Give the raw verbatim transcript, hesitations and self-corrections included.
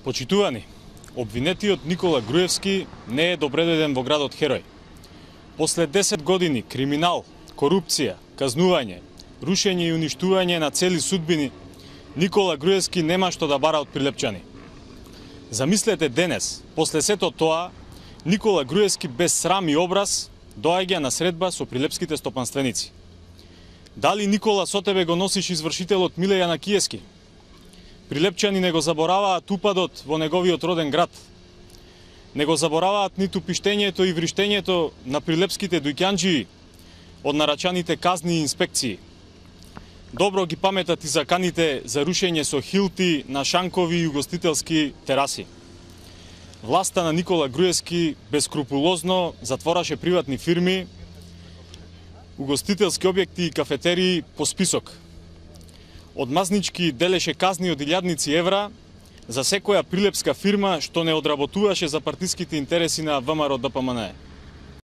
Почитувани, обвинетиот Никола Груевски не е добредојден во градот Херој. После десет години криминал, корупција, казнување, рушење и уништување на цели судбини, Никола Груевски нема што да бара од прилепчани. Замислете денес, после сето тоа, Никола Груевски без срам и образ доаѓа на средба со прилепските стопанственици. Дали Никола со тебе го носиш извршителот Миле Јанакиевски? Прилепчани не го забораваат упадот во неговиот роден град. Не го забораваат ниту пиштењето и вриштењето на прилепските дуќанџии од нарачаните казни и инспекции. Добро ги паметат и заканите за рушење со хилти на шанкови и угостителски тераси. Власта на Никола Груевски бескрупулозно затвораше приватни фирми, угостителски објекти и кафетерии по список. Одмазнички делеше казни од илјадници евра за секоја прилепска фирма што не одработуваше за партиските интереси на ВМРО ДПМНЕ.